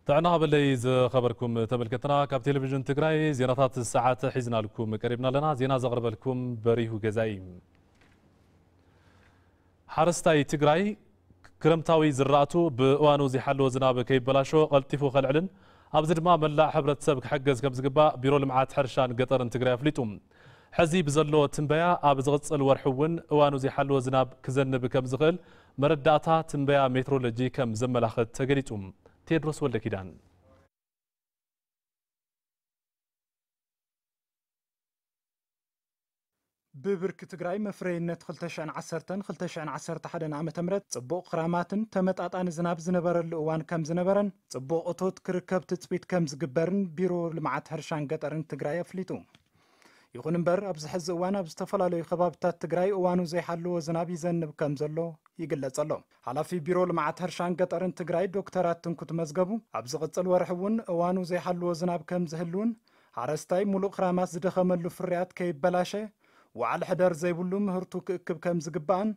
ጥዕና ሃበለይ ዝኸበርኩም ተመልከትና፣ ካብ ቴሌቪዥን ትግራይ ዜናታት ሰዓት ሒዝናልኩም ቀሪብና ኣለና። ዜና ዘቕርበልኩም በሪሁ ገዛኢ። ሓረስታይ ትግራይ ክረምታዊ ዝራእቱ ብእዋኑ ዘይሓለወ ዝናብ ከይበላሾ ቀልጢፉ ከልዕልን ኣብዚ ድማ መላእ ሕብረተሰብ ክሕገዝ ከም ዝግባእ ቢሮ ልምዓት ሕርሻን ገጠርን ትግራይ ኣፍሊጡ። ሕዚ ብዘሎ ትንበያ ኣብ ዝቕፅል ወርሒ እውን እዋኑ ዘይሓለወ ዝናብ ክዘንብ ከም ዝኽእል መረዳእታ ትንበያ ሜትሮሎጂ ከም ዘመላኽት ተገሊጹ። ቴድሮስ ወልደ ኪዳን። ብብርኪ ትግራይ መፍረይነት ክልተ ሽሕን ዓሰርተን ክልተ ሽሕን ዓሰርተ ሓደን ዓመተ ምህረት ጽቡቕ ክራማትን ተመጣጣኒ ዝናብ ዝነበረሉ እዋን ከም ዝነበረን ጽቡቕ እቶት ክርከብ ትጽቢት ከም ዝግበርን ቢሮ ልምዓት ሕርሻን ገጠርን ትግራይ ኣፍሊጡ። ይኹን እምበር ኣብዚ ሕዚ እዋን ኣብ ዝተፈላለዩ ከባብታት ትግራይ እዋኑ ዘይሓለዎ ዝናብ ይዘንብ ከም ዘሎ ይግለጽ ኣሎ። ሓላፊ ቢሮ ልምዓት ሕርሻን ገጠርን ትግራይ ዶክተር ኣትንኩት መዝገቡ ኣብ ዝቕጽል ወርሒ እውን እዋኑ ዘይሓለዎ ዝናብ ከም ዝህልውን ሓረስታይ ሙሉእ ክራማት ዝደኸመሉ ፍርያት ከይበላሸ ዋዕል ሕደር ዘይብሉ ምህርቱ ክእክብ ከም ዝግባእን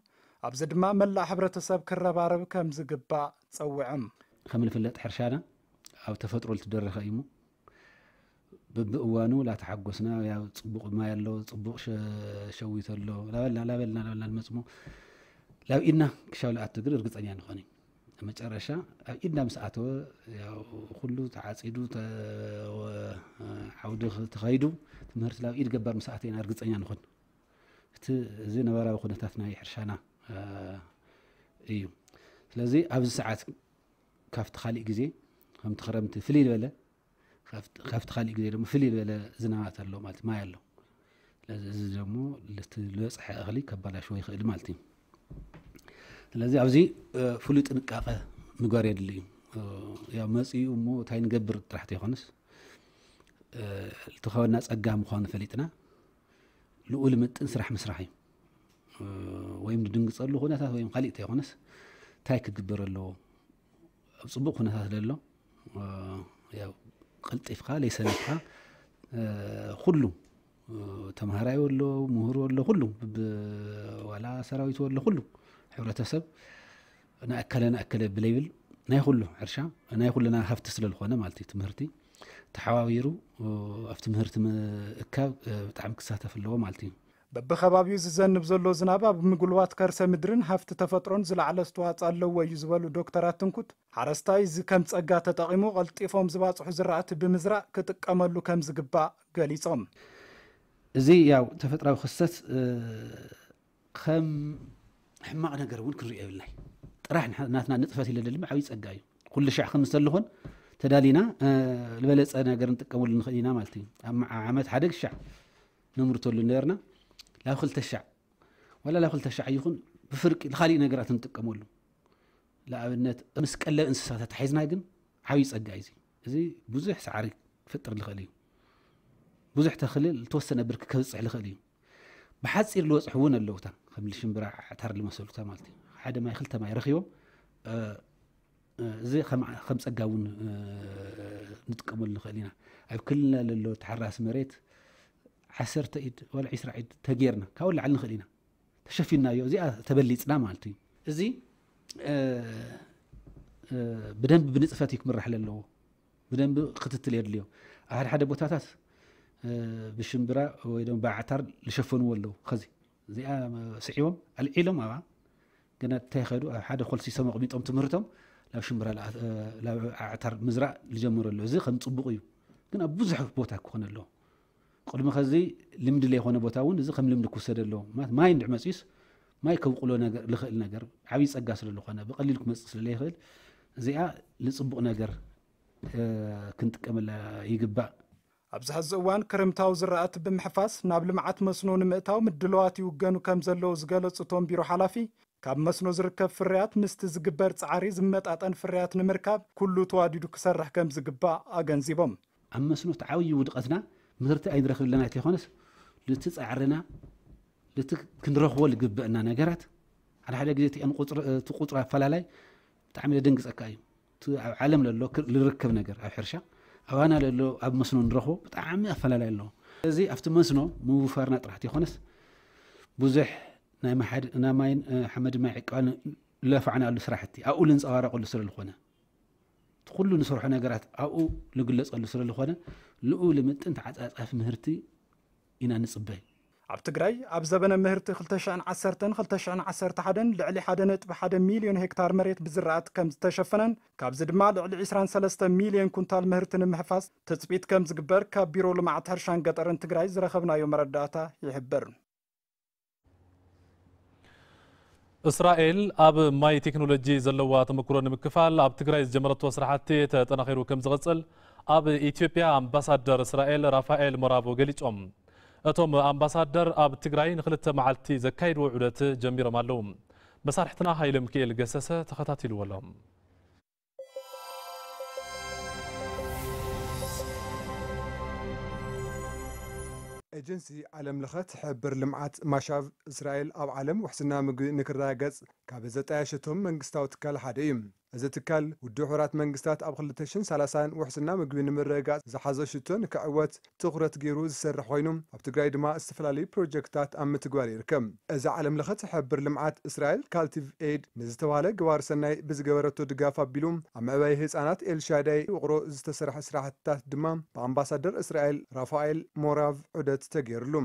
ኣብዚ ድማ መላእ ሕብረተሰብ ክረባረብ ከም ዝግባእ ጸዊዖም። ከም ዝፍለጥ ሕርሻና ኣብ ተፈጥሮ ልትደረኸ እዩ እሞ በብእዋኑ ላተሓጎስና ያው ጽቡቕ ማይ ኣሎ፣ ጽቡቕ ሸ- ሸዊት ኣሎ ላበልና ላበልና ላበልና ንመጽሞ ላብ ኢድና ክሻው ልኣቱ ግን እርግጸኛ ንኾን እዩ። መጨረሻ ኣብ ኢድና ምስ ኣተወ ያው ኩሉ ተዓጺዱ ተ- ወ- ዓውዲ ኽ- ተኸይዱ ትምህርቲ ላብ ኢድ ገባር ምስ ኣተና እርግጸኛ ንኾን። እቲ እዚ ነባራዊ ኩነታት ናይ ሕርሻና እ፣ እዩ። ስለዚ ኣብዚ ሰዓት ካብቲ ካሊእ ግዜ ከምቲ ክረምቲ ፍልይ ዝበለ ካብቲ ካብቲ ካሊእ ግዜ ድማ ፍልይ ዝበለ ዝናባት ኣሎ ማለት ማይ ኣሎ። ስለዚ እዚ ደግሞ ልቲ ዝበፅሐ እኽሊ ከባላሽዎ ይኽእል ማለት እዩ። ስለዚ ኣብዚ እ፣ ፍሉይ ጥንቃቐ ምግባር የድሊ እዩ። እ፣ ያው መፂኡ እሞ እንታይ ንገብር ጥራሕ ተይኮነስ እ፣ ልትኸበና ፀጋ ምዃኑ ፈሊጥና ልኡል ምጥን ስራሕ ምስራሕ እዩ። እ፣ ወይም ንድንግፀሉ ኩነታት ወይም ካሊእ ተይኮነስ እንታይ ክግበር ኣለዎ ኣብ ጽቡቕ ኩነታት ዘሎ እ፣ ያው ቀልጢፍካ ለይሰነፍካ እ፣ ኩሉ እ፣ ተምሃራይ ወሎ ምሁር ወሎ ኩሉ ብ- ዋላ ሰራዊት ወሎ ኩሉ ሕብረተሰብ ንኣከለ ንኣከለ ብለይብል ናይ ኩሉ ሕርሻ ናይ ኩልና ሃፍቲ ስለ ዝኾነ ማለት እዩ ትምህርቲ ተሓባቢሩ እ፣ ኣብ ትምህርቲ ምእካብ እ፣ ብጣዕሚ ክሳተፍ ኣለዎ ማለት እዩ። በብኸባቢኡ ዝዘንብ ዘሎ ዝናብ ኣብ ምጉልባት ከርሰ ምድርን ሃፍቲ ተፈጥሮን ዝለዓለ ኣስተዋፅኦ ኣለዎ እዩ ዝበሉ ዶክተር ኣትንኩት ሓረስታይ እዚ ከም ፀጋ ተጠቒሙ ቀልጢፎም ዝባፅሑ ዝራእቲ ብምዝራእ ክጥቀመሉ ከም ዝግባእ ገሊፆም። እዚ ያው ተፈጥራዊ ክስተት እ፣ ከም ሕማቕ ነገር እውን ክንሪኦ የብልናይ። ጥራሕ ንሕ- ናትና ንጥፈት ኢለ ድማ ዓብዪ ፀጋ እዩ። ኩሉ ሻዕ ከም ዝተልኾን ተዳሊና እ፣ ዝበለፀ ነገር ንጥቀመሉ ንኽእል ኢና ማለት እዩ። ኣብ መዓ- ዓመት ሓደ ሻዕ ነምርተሉ ነበርና ላብ ክልተ ሻዕ ዋላ ላብ ክልተ ሻዕ ይኹን ብፍርቂ ንኻሊእ ነገራት ንጥቀመሉ። ንኣብነት ምስ ቀለብ እንስሳታት ተታሒዝና ግን ዓብዪ ፀጋ እዩ እዚ። እዚ ብዙሕ ሰዓሪ ክፈጥር ዝኽእል እዩ። ብዙሕ ተኽሊ ዝተወሰነ ብርኪ ከብፅሕ ዝኽእል እዩ። ብሓፂር ዝበፅሑ እውን ኣለውታ ከም ሽምብራ ዓዕታር ዝመሰሉታ ማለት እዩ። ሓደ ማይ ክልተ ማይ ረኺቦም እ፣ እ፣ እዚ ከም ከም ፀጋ እውን እ፣ ንጥቀመሉ ንኽእል ኢና። ኣብ ክልልና ለሎ ተሓራሲ መሬት ዓሰርተ ኢድ ዋላ ዒስራ ኢድ ተጌርና ካብኡ ላዕሊ ንኽእል ኢና ተሸፊናዮ እዚኣ ተበሊፅና ማለት እዩ። እዚ እ፣ እ፣ ብደንቢ ብንፅፈት እዩ ክምራሕ ለለዎ። ብደንቢ ክትትል የድልዮ። ኣብ ሓደ ሓደ ቦታታት እ፣ ብሽምብራ ወይ ድማ ብዓዕታር ዝሸፈንዎ ኣለዉ። ኸዚ እዚኣ ስዒቦም ኣልዒሎም ኣብኣ ገና እንታይ ከዱ ኣብ ሓደ ኮልሲሶም ኣቕሚጦም ትምህርቶም ናብ ሽምብራ ላኣ- እ፣ ናብ ዓዕታር ምዝራእ ዝጀምሩ ኣለዉ። እዚ ከም ፅቡቕ እዩ። ግን ኣብ ብዙሕ ቦታ ክኾነ ኣለዎ። ቅድሚ ከዚ ልምዲ ለይኮነ ቦታ እውን እዚ ከም ልምዲ ክውሰድ ኣለዎ። ማለት ማይ እንድዕ መፅዩስ ማይ ከብቁሎ ነገር ልኽእል ነገር ዓብዪ ፀጋ ስለ ዝኾነ ብቐሊሉ ክመፅእ ስለ ለይኽእል እዚኣ ንፅቡቕ ነገር እ፣ ክንጥቀመላ ይግባእ። ኣብዚ ሕዚ እዋን ክረምታዊ ዝራእቲ ብምሕፋስ ናብ ልምዓት መስኖ ንምእታው ምድለዋት ይውገኑ ከም ዘለዉ ዝገለጹ እቶም ቢሮ ሓላፊ ካብ መስኖ ዝርከብ ፍርያት ምስቲ ዝግበር ፃዕሪ ዝመጣጠን ፍርያት ንምርካብ ኩሉ ተዋዲዱ ክሰርሕ ከም ዝግባእ ኣገንዚቦም። ኣብ መስኖ እቲ ዓብዪ ውድቐትና ምህርቲ ኣይንረኽብ ኣለና እንተይኮነስ ልቲ ፃዕርና ልቲ ክንረኽቦ ዝግበአና ነገራት ሓደ ሓደ ግዜ እቲ ቁፅሪ እቲ ቁፅሪ ኣፈላላይ ብጣዕሚ ዘደንግፀካ እዩ። እቲ ኣብ ዓለም ለሎ ክር- ዝርከብ ነገር ኣብ ሕርሻ ኣባና ለሎ ኣብ መስኖ ንረኽቦ ብጣዕሚ ኣፈላላይ ኣለዎ። ስለዚ ኣብቲ መስኖ ምውፋርና ጥራሕ ዘይኮነስ ብዙሕ ናይ ማሓድ ናይ ማይን እ፣ ሓመድ ማይ ዕቃን ለፋዕናሉ ስራሕቲ ኣብኡ ልንፀባረቐሉ ስለ ዝኾነ ኩሉ ንሰርሖ ነገራት ኣብኡ ልግለጸሉ ስለ ዝኾነ ንኡ ልምጥን ተዓጻጻፊ ምህርቲ ኢና ንጽበይ። ኣብ ትግራይ ኣብ ዘበነ ምህርቲ ክልተ ሽሕን ዓሰርተን ክልተ ሽሕን ዓሰርተ ሓደን ልዕሊ ሓደ ነጥቢ ሓደ ሚልዮን ሄክታር መሬት ብዝራእቲ ከም ዝተሸፈነን ካብዚ ድማ ልዕሊ ዕስራን ሰለስተ ሚልዮን ኩንታል ምህርቲ ንምሕፋስ ትጽቢት ከም ዝግበር ካብ ቢሮ ልምዓት ሕርሻን ገጠርን ትግራይ ዝረኸብናዮ መረዳእታ ይሕብር። እስራኤል ኣብ ማይ ቴክኖሎጂ ዘለዋ ተመክሮ ንምክፋል ኣብ ትግራይ ዝጀመረቶ ስራሕቲ ተጠናኺሩ ከም ዝቕጽል ኣብ ኢትዮጵያ ኣምባሳደር እስራኤል ራፋኤል ሞራቮ ገሊጾም። እቶም ኣምባሳደር ኣብ ትግራይ ንክልተ መዓልቲ ዘካይድዎ ዑደት ጀሚሮም ኣለዉ። መሳርሕትና ሃይለ ሚካኤል ገሰሰ ተኸታቲልዎ ኣሎ። ኤጀንሲ ዓለም ለኸ ትሕብር ልምዓት ማሻቭ እስራኤል ኣብ ዓለም ውሕስና ምግቢ ንክረጋገጽ ካብ ዘጣየሸቶም መንግስታዊ ትካል ሓደ እዩ። እዚ ትካል ውድብ ሕቡራት መንግስታት ኣብ ክልተ ሽሕን ሰላሳን ውሕስና ምግቢ ንምርግጋጽ ዝሓዞ ሽቶ ንክዕወት ትኹረት ገይሩ ዝሰርሕ ኮይኑ ኣብ ትግራይ ድማ ዝተፈላለዩ ፕሮጀክትታት ኣብ ምትግባር ይርከብ። እዚ ዓለም ለኸ ትሕብር ልምዓት እስራኤል ካልቲቭ ኤድ ንዝተባህለ ግባር ሰናይ ብዝገበረቶ ድጋፍ ኣቢሉ ኣብ መዕበይ ህፃናት ኤልሻዳይ ውቕሮ ዝተሰርሐ ስራሕትታት ድማ ብኣምባሳደር እስራኤል ራፋኤል ሞራቭ ዑደት ተገይርሉ።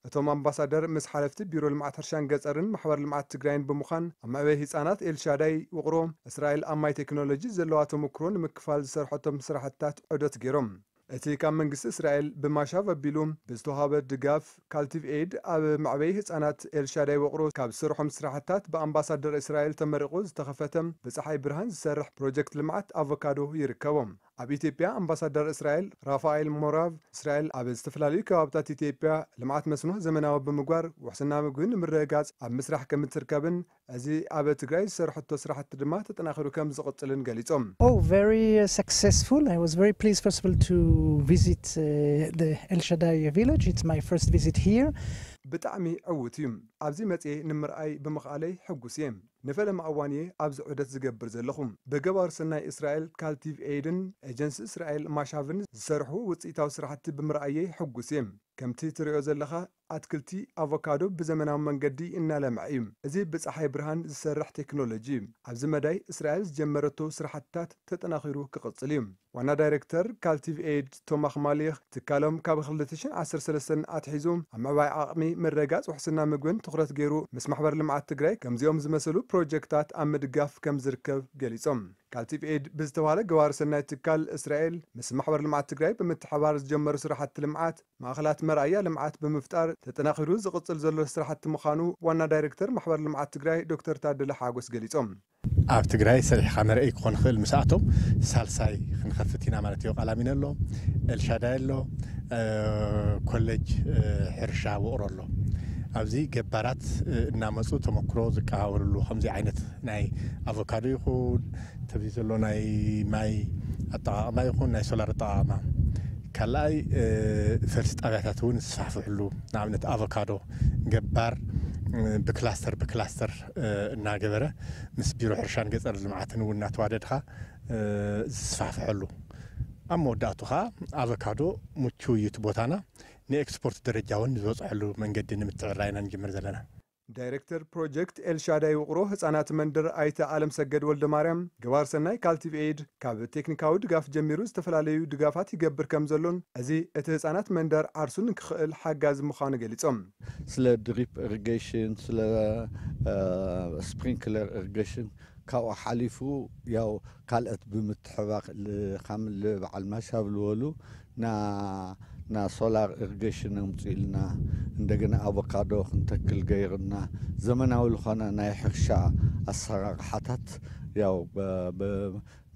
እቶም ኣምባሳደር ምስ ሓለፍቲ ቢሮ ልምዓት ሕርሻን ገፀርን ማሕበር ልምዓት ትግራይን ብምዃን ኣብ መዕበይ ህፃናት ኤልሻዳይ ውቕሮ እስራኤል ኣብ ማይ ቴክኖሎጂ ዘለዋ ተመክሮ ንምክፋል ዝሰርሐቶም ስራሕትታት ዑደት ገይሮም። እቲ ካብ መንግስቲ እስራኤል ብማሻቭ ኣቢሉ ብዝተዋሃበ ድጋፍ ካልቲቭ ኤድ ኣብ መዕበይ ህፃናት ኤልሻዳይ ውቕሮ ካብ ዝሰርሖም ስራሕትታት ብኣምባሳደር እስራኤል ተመሪቑ ዝተኸፈተ ብፀሓይ ብርሃን ዝሰርሕ ፕሮጀክት ልምዓት ኣቮካዶ ይርከቦም። ኣብ ኢትዮጵያ ኣምባሳደር እስራኤል ራፋኤል ሞራቭ እስራኤል ኣብ ዝተፈላለዩ ከባብታት ኢትዮጵያ ልምዓት መስኖ ዘመናዊ ብምግባር ውሕስና ምግቢ ንምርግጋፅ ኣብ ምስራሕ ከም እትርከብን እዚ ኣብ ትግራይ ዝሰርሐቶ ስራሕቲ ድማ ተጠናኺሩ ከም ዝቕፅልን ገሊፆም። Oh, very uh, successful. I was very pleased, first of all, to visit uh, the El Shaddai village. It's my first visit here. ብጣዕሚ ዕዉት እዩ። ኣብዚ መፅየ ንምርኣይ ብምኽኣለይ ሕጉስ እየ። ንፈለማ እዋን እየ ኣብዚ ዑደት ዝገብር ዘለኹ። ብገባር ሰናይ እስራኤል ካልቲቭ ኤድን ኤጀንሲ እስራኤል ማሻቭን ዝሰርሑ ውፅኢታዊ ስራሕቲ ብምርኣየይ ሕጉስ እየ። ከምቲ ትሪኦ ዘለኻ ኣትክልቲ ኣቮካዶ ብዘመናዊ መንገዲ እናለምዐ እዩ። እዚ ብፀሓይ ብርሃን ዝሰርሕ ቴክኖሎጂ እዩ። ኣብዚ መዳይ እስራኤል ዝጀመረቶ ስራሕትታት ተጠናኺሩ ክቕፅል እዩ። ዋና ዳይሬክተር ካልቲቭ ኤድ ቶማኽ ማሊኽ ትካሎም ካብ ክልተ ሽሕን ዓሰርተ ሰለስተን ኣትሒዙ ኣብ ምዕባይ ዓቕሚ ምርግጋፅ ውሕስና ምግብን ትኹረት ገይሩ ምስ ማሕበር ልምዓት ትግራይ ከምዚኦም ዝመሰሉ ፕሮጀክታት ኣብ ምድጋፍ ከም ዝርከብ ገሊፆም። ካልቲቭ ኤድ ብዝተባሃለ ገባሪ ሰናይ ትካል እስራኤል ምስ ማሕበር ልምዓት ትግራይ ብምትሕባር ዝጀመሩ ስራሕቲ ልምዓት ማእኸላት መርኣያ ልምዓት ብምፍጣር ተጠናኺሩ ዝቕፅል ዘሎ ስራሕቲ ምዃኑ ዋና ዳይሬክተር ማሕበር ልምዓት ትግራይ ዶክተር ታደለ ሓጎስ ገሊፆም። ኣብ ትግራይ ሰሪሕኻ መርኣይ ክኾን ይኽእል ምስ ኣቶም ሳልሳይ ክንኸፍት ኢና ማለት እዩ። ቃላሚነ ኣሎ፣ ኤልሻዳይ ኣሎ፣ ኮሌጅ ሕርሻ ውቕሮ ኣሎ። ኣብዚ ገባራት እናመፁ ተመክሮ ዝቀባበልሉ ከምዚ ዓይነት ናይ ኣቮካዶ ይኹን ተዚ ዘሎ ናይ ማይ ኣጠቓቕማ ይኹን ናይ ሶላር ኣጠቓቕማ ካልኣይ ፈልሲ ጣብያታት እውን ዝስፋሕፍሕሉ ንኣብነት ኣቮካዶ ገባር ብክላስተር ብክላስተር እናገበረ ምስ ቢሮ ሕርሻን ገፀር ልምዓትን እውን እናተዋደድካ ዝስፋሕፍሐሉ ኣብ መወዳእቱ ከዓ ኣቮካዶ ምቹው እዩ እቲ ቦታና ንኤክስፖርት ደረጃ እውን ዝበፅሐሉ መንገዲ ንምትዕራይ ኢና ንጅምር ዘለና። ዳይሬክተር ፕሮጀክት ኤልሻዳይ ውቕሮ ህፃናት መንደር ኣይተ ኣለም ሰገድ ወልደ ማርያም ገባር ሰናይ ካልቲቭ ኤድ ካብ ቴክኒካዊ ድጋፍ ጀሚሩ ዝተፈላለዩ ድጋፋት ይገብር ከም ዘሎን እዚ እቲ ህፃናት መንደር ዓርሱ ንክኽእል ሓጋዚ ምዃኑ ገሊፆም። ስለ ድሪፕ ኢሪጌሽን ስለ ስፕሪንክለር ኢሪጌሽን ካብኡ ሓሊፉ ያው ካልኦት ብምትሕባር ከም በዓል ማሻብ ዝበሉ ና ና ሶላር ኢሪጌሽን ኣምፅኡልና እንደገና ኣቮካዶ ክንተክል ገይሩና ዘመናዊ ዝኾነ ናይ ሕርሻ ኣሰራርሓታት ያው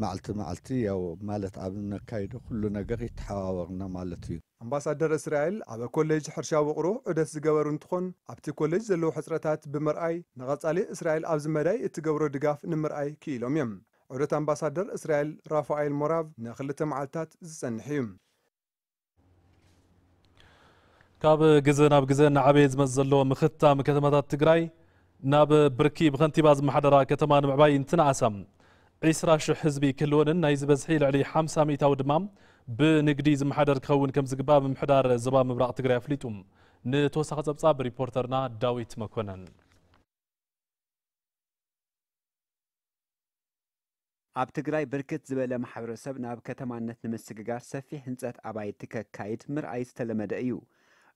መዓልቲ መዓልቲ ያው ማለት ኣብ ነካይዶ ኩሉ ነገር ይተሓባበርና ማለት እዩ። ኣምባሳደር እስራኤል ኣብ ኮሌጅ ሕርሻ ውቕሮ ዑደት ዝገበሩ እንትኾን ኣብቲ ኮሌጅ ዘለዉ ሕፅረታት ብምርኣይ ንቐፃሊ እስራኤል ኣብዚ መዳይ እትገብሮ ድጋፍ ንምርኣይ ክኢሎም እዮም። ዑደት ኣምባሳደር እስራኤል ራፋኤል ሞራቭ ንክልተ መዓልታት ዝፀንሕ እዩ። ካብ ግዘ ናብ ግዘ እናዓበየ ዝመፅእ ዘሎ ምኽታም ከተማታት ትግራይ ናብ ብርኪ ብኸንቲባ ዝመሓደራ ከተማ ንምዕባይ እንትንኣሳ ዒስራ ሽሕ ህዝቢ ክህልወንን ናይዚ በዝሒ ልዕሊ ሓምሳ ሚእታዊ ድማ ብንግዲ ዝመሓደር ክኸውን ከም ዝግባእ ምምሕዳር ዞባ ምብራቕ ትግራይ ኣፍሊጡ። ንተወሳኺ ፀብፃብ ሪፖርተርና ዳዊት መኮነን። ኣብ ትግራይ ብርክት ዝበለ ማሕበረሰብ ናብ ከተማነት ንምስግጋር ሰፊሕ ህንፀት ኣባይቲ ከካይድ ምርኣይ ዝተለመደ እዩ።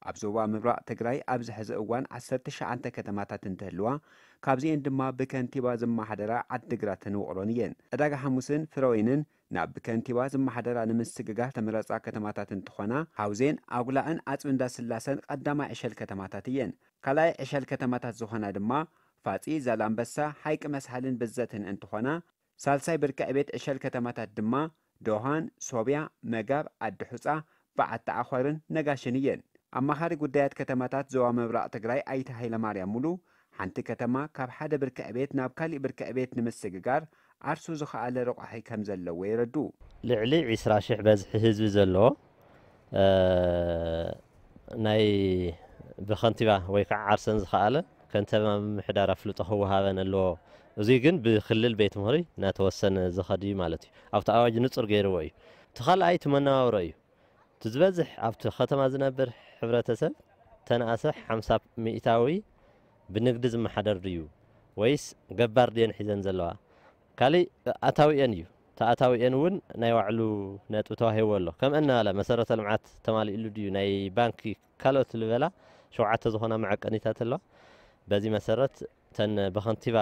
ኣብ ዞባ ምብራቕ ትግራይ ኣብዚ ሕዚ እዋን ዓሰርተ ትሽዓተ ከተማታት እንትህልዋ፣ ካብዚኤን ድማ ብከንቲባ ዝመሓደራ ዓዲግራትን ውቕሮን እየን። ዕዳጋ ሓሙስን ፍረወይንን ናብ ብከንቲባ ዝመሓደራ ንምስግጋር ተመረፃ ከተማታት እንትኾና፣ ሓውዜን፣ ኣጉላእን ዓፅቢ እንዳስላሰን ቀዳማይ ዕሸል ከተማታት እየን። ካልኣይ ዕሸል ከተማታት ዝኾና ድማ ፋፂ፣ ዛላምበሳ፣ ሓይቂ መስሓልን ብዘትን እንትኾና፣ ሳልሳይ ብርኪ ዕቤት ዕሸል ከተማታት ድማ ዶሃን፣ ሶብያ፣ መጋብ፣ ዓዲ ሑፃ፣ በዓቲ ዓኾርን ነጋሽን እየን። ኣማኻሪ ጉዳያት ከተማታት ዞባ ምብራቕ ትግራይ ኣይተ ሃይለማርያም ሙሉ፣ ሓንቲ ከተማ ካብ ሓደ ብርኪ ዕቤት ናብ ካሊእ ብርኪ ዕቤት ንምስግጋር ዓርሱ ዝኸኣለ ረቋሒ ከም ዘለዎ የረዱ። ልዕሊ ዒስራ ሽሕ በዝሒ ህዝቢ ዘለዎ፣ እ፣ ናይ ብኸንቲባ ወይ ከዓ ዓርሰን ዝኸኣለ ከንቲባ ምምሕዳር ኣፍልጦ ክወሃበን ኣለዎ። እዙይ ግን ብክልል ቤት ምኽሪ እናተወሰነ ዝኸድ እዩ ማለት እዩ። ኣብቲ ኣዋጅ ንጹር ገይርዎ እዩ። እቲ ካልኣይ እቲ መነባብሮ እዩ። እቲ ዝበዝሕ ኣብቲ ከተማ ዝነብር ሕብረተሰብ ተነኣሰ ሓምሳ ሚእታዊ ብንግዲ ዝመሓደር ድዩ ወይስ ገባር ድየን ሒዘን ዘለዋ? ካሊእ ኣታዊኤን እዩ። እቲ ኣታዊኤን እውን ናይ ባዕሉ ነጥቢ ተዋሂብዎ ኣሎ። ከም እናበለ መሰረተ ልምዓት ተማሊእሉ ድዩ? ናይ ባንኪ ካልኦት ዝበላ ሸውዓተ ዝኾና መዐቀኒታት ኣለዋ። በዚ መሰረት እተን ብኸንቲባ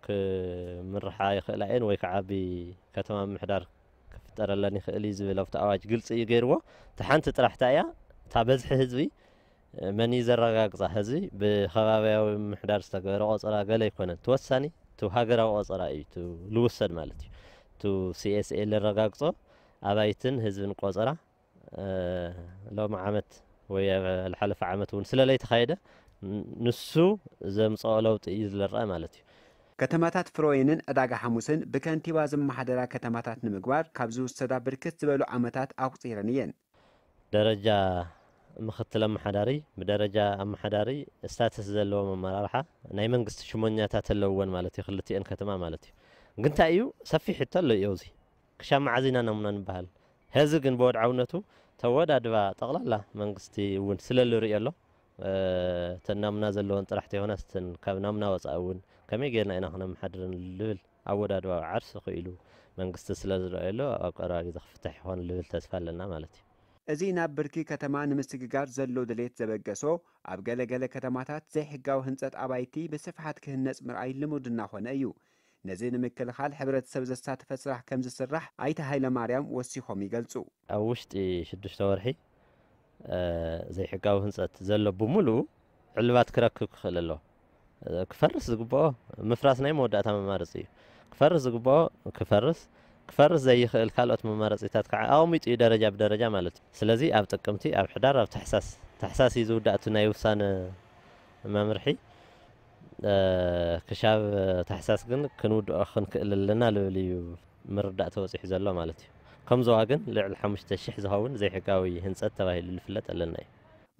ክምርሓ ይኽእላ እየን ወይ ከዓ ብከተማ ምምሕዳር ክፍጠረለን ይኽእል እዩ ዝብል ኣብቲ ኣዋጅ ግልፂ እዩ ገይርዎ። እታ ሓንቲ ጥራሕ እታ እያ፣ እታ በዝሒ ህዝቢ መን እዩ ዘረጋግፃ? ህዝቢ ብኸባቢያዊ ምምሕዳር ዝተገበረ ቆፀራ ገለ ኣይኮነን። እቲ ወሳኒ እቲ ሃገራዊ ቆፀራ እዩ፣ እቲ ልውሰድ ማለት እዩ። እቲ ሲ ኤስ ኤ ለረጋግፆ ኣባይትን ህዝብን ቆፀራ፣ እ፣ ሎሚ ዓመት ወይ ኣብ ዝሓለፈ ዓመት እውን ስለ ለይተኻየደ፣ ን-፣ ንሱ ዘምፅኦ ለውጢ እዩ ዝረአ ማለት እዩ። ከተማታት ፍረወይንን ዕዳጋ ሓሙስን ብከንቲባ ዝመሓደራ ከተማታት ንምግባር ካብ ዝውሰዳ ብርክት ዝበሉ ዓመታት ኣቑፂረን እየን። ደረጃ ምኽትል ኣመሓዳሪ፣ ብደረጃ ኣመሓዳሪ ስታተስ ዘለዎም ኣመራርሓ ናይ መንግስቲ ሽሞኛታት ኣለውወን ማለት እዩ፣ ክልቲኤን ከተማ ማለት እዩ። ግን እንታይ እዩ፣ ሰፊሕ ሕቶ ኣሎ እዩ ኣብዚ። ክሻብ መዓዝ ኢና ናሙና ንበሃል? ሕዚ ግን ብወድዓውነቱ ተወዳድባ ጠቕላላ መንግስቲ እውን ስለ ዝርእዮ ኣሎ። እ፣ እተን ናሙና ዘለወን ጥራሕ ተይኮነስ እተን ካብ ናሙና ወፃኢ እውን ከመይ ጌርና ኢና ክነመሓድረን ልብል ኣወዳድባ ዓርሲ ክኢሉ መንግስቲ ስለ ዝረኣየሉ ኣብ ቀረባ ግዜ ክፍታሕ ይኾን ልብል ተስፋ ኣለና ማለት እዩ። እዚ ናብ ብርኪ ከተማ ንምስግጋር ዘሎ ድሌት ዘበገሶ፣ ኣብ ገለ ገለ ከተማታት ዘይሕጋዊ ህንፀት ኣባይቲ ብስፍሓት ክህነፅ ምርኣይ ልሙድ እናኾነ እዩ። ነዚ ንምክልኻል ሕብረተሰብ ዘሳተፈ ስራሕ ከም ዝስራሕ ኣይተ ሃይለማርያም ወሲኾም ይገልጹ። ኣብ ውሽጢ ሽዱሽተ ወርሒ፣ እ፣ ዘይሕጋዊ ህንፀት ዘሎ ብምሉኡ ዕልባት ክረክብ ክኽእል ኣለዎ። እ፣ ክፈርስ ዝግብኦ፣ ምፍራስ ናይ መወዳእታ መማረፂ እዩ። ክፈርስ ዝግብኦ ክፈርስ፣ ክፈርስ ዘይኽእል ካልኦት መማረፂታት ከዓ ኣቐሚጡ እዩ፣ ደረጃ ብደረጃ ማለት እዩ። ስለዚ ኣብ ጥቅምቲ፣ ኣብ ሕዳር፣ ኣብ ታሕሳስ፣ ታሕሳስ እዩ ዝውዳእ እቲ ናይ ውሳነ መምርሒ። እ፣ ክሻብ ታሕሳስ ግን ክንውድኦ ክንክእል ኣለና ልብል እዩ ምርዳእ ተበፂሑ ዘሎ ማለት እዩ። ከም ዞባ ግን ልዕሊ ሓሙሽተ ሽሕ ዝኸውን ዘይሕጋዊ ህንፀት ተባሂሉ ዝፍለጥ ኣለና እዩ።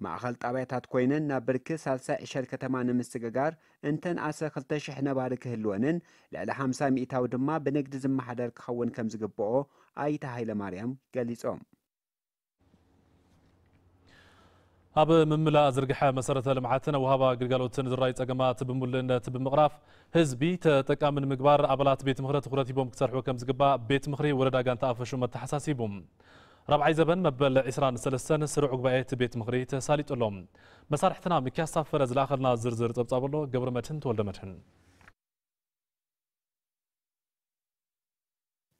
ማእኸል ጣብያታት ኮይነን ናብ ብርኪ ሳልሳይ ዕሸል ከተማ ንምስግጋር እንተንኣሰ ክልተ ሽሕ ነባሪ ክህልወንን ልዕሊ ሓምሳ ሚእታዊ ድማ ብንግዲ ዝመሓደር ክኸውን ከም ዝግብኦ ኣይተ ሃይለማርያም ገሊጾም። ኣብ ምምላእ ዝርግሐ መሰረተ ልምዓትን ኣወሃባ ግልጋሎትን ዝረኣዩ ጸገማት ብምሉእነት ብምቕራፍ ህዝቢ ተጠቃሚ ንምግባር ኣባላት ቤት ምኽሪ ትኹረት ሂቦም ክሰርሑ ከም ዝግባእ ቤት ምኽሪ ወረዳ ጋንታ ኣፈሹም ኣተሓሳሲቡ። ራብዓይ ዘበን መበል ዕስራን ሰለስተን ስሩዕ ጉባኤ እቲ ቤት ምኽሪ ተሳሊጡ ኣሎ። መሳርሕትና ሚኪያስ ታፈረ ዝለኣኸልና ዝርዝር ጸብጻብ ኣሎ። ገብረ መድህን ተወልደ መድህን።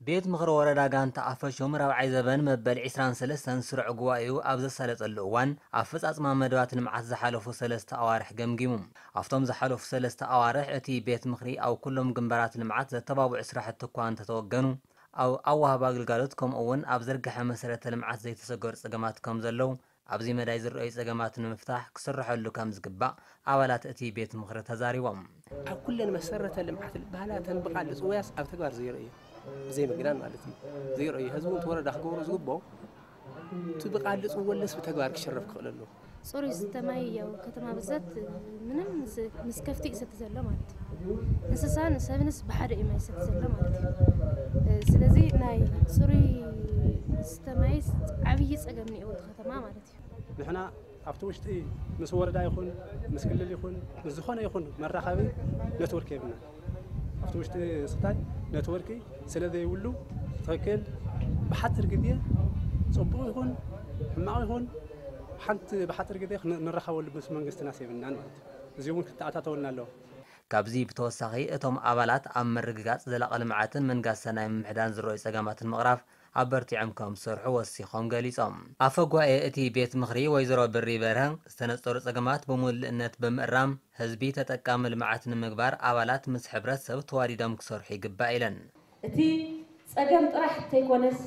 ቤት ምኽሪ ወረዳ ጋንታ ኣፈሹም ራብዓይ ዘበን መበል ዕስራን ሰለስተን ስሩዕ ጉባኤኡ ኣብ ዘሳለጠሉ እዋን ኣፈጻጽማ መደባት ልምዓት ዝሓለፉ ሰለስተ ኣዋርሕ ገምጊሙ። ኣብቶም ዝሓለፉ ሰለስተ ኣዋርሕ እቲ ቤት ምኽሪ ኣብ ኩሎም ግንባራት ልምዓት ዘተባብዑ ስራሕቲ እኳ እንተተወገኑ፣ ኣብ ኣወሃባ ግልጋሎት ከምኡ እውን ኣብ ዝርግሐ መሰረተ ልምዓት ዘይተሰገሩ ጸገማት ከም ዘለዉ ኣብዚ መዳይ ዝረኣዩ ጸገማት ንምፍታሕ ክስርሐሉ ከም ዝግባእ ኣባላት እቲ ቤት ምኽሪ ተዛሪቦም። ኣብ ኩለን መሰረተ ልምዓት ዝበሃላ እተን ብቓል ዝጽውያስ ኣብ ተግባር ዘይረኣዩ፣ ብዘይ ምግናን ማለት እዩ፣ ዘይረኣዩ፣ ህዝቢ እውን እቲ ወረዳ ክገብሮ ዝግብኦ እቲ ብቓል ዝጽወለስ ብተግባር ክሽረፍ ክኽእል ኣለዎ። ጽሩይ ዝስተ ማይ ያው ከተማ ብዛት ምንም ምስ፣ ምስ ከፍቲ እዩ ዝሰቲ ዘሎ ማለት እዩ። እንስሳን ሰብንስ ብሓደ እዩ ማይ ዝሰቲ ዘሎ ማለት እዩ። እ፣ ስለዚ ናይ ጽሩይ ዝስተ ማይ ዓብዪ ጸገም እኒኦ እቲ ከተማ ማለት እዩ። ንሕና ኣብቲ ውሽጢ ምስ ወረዳ ይኹን ምስ ክልል ይኹን ምስ ዝኾነ ይኹን መራኸቢ ኔትወርክ የብልና። ውሽጢ ስታይ ነትወርክ ስለ ዘይብሉ ትኽክል ብሓፂር ግዜ ፅቡቕ ይኹን ሕማቕ ይኹን ሓንቲ ብሓፂር ግዜ ንረኸበሉ ምስ መንግስትና ሴብናን ማለት እዩ። እዚ እውን ክተኣታተወልና ኣለዎ። ካብዚ ብተወሳኺ እቶም ኣባላት ኣብ ምርግጋፅ ዘላቒ ልምዓትን ምንጋስ ሰናይ ምምሕዳን ዝረኣዩ ፀገማትን ምቕራፍ ኣበርቲዖም ከም ዝሰርሑ ወሲኾም ገሊፆም። ኣፈ ጉባኤ እቲ ቤት ምኽሪ ወይዘሮ ብሪ በርሀ ዝተነፀሩ ፀገማት ብምሉእነት ብምእራም ህዝቢ ተጠቃሚ ልምዓት ንምግባር ኣባላት ምስ ሕብረተሰብ ተዋዲዶም ክሰርሑ ይግባእ ኢለን። እቲ ፀገም ጥራሕ እንተይኮነስ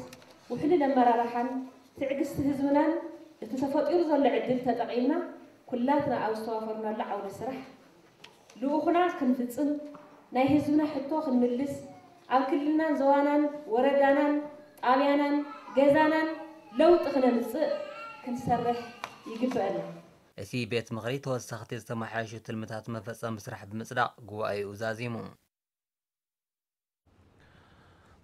ውሕሉል ኣመራርሓን ትዕግስቲ ህዝብናን እቲ ተፈጢሩ ዘሎ ዕድል ተጠቒምና ኩላትና ኣብ ዝተዋፈርናሉ ዓውደ ስራሕ ልኡኽና ክንፍፅም ናይ ህዝብና ሕቶ ክንምልስ ኣብ ክልልናን ዞባናን ወረዳናን ጣብያናን ገዛናን ለውጢ ክነምፅእ ክንሰርሕ ይግበአና። እቲ ቤት ምኽሪ ተወሰኽቲ ዝተመሓየሹ ትልምታት መፈፀሚ ስራሕ ብምፅዳቕ ጉባኤኡ ዛዚሙ።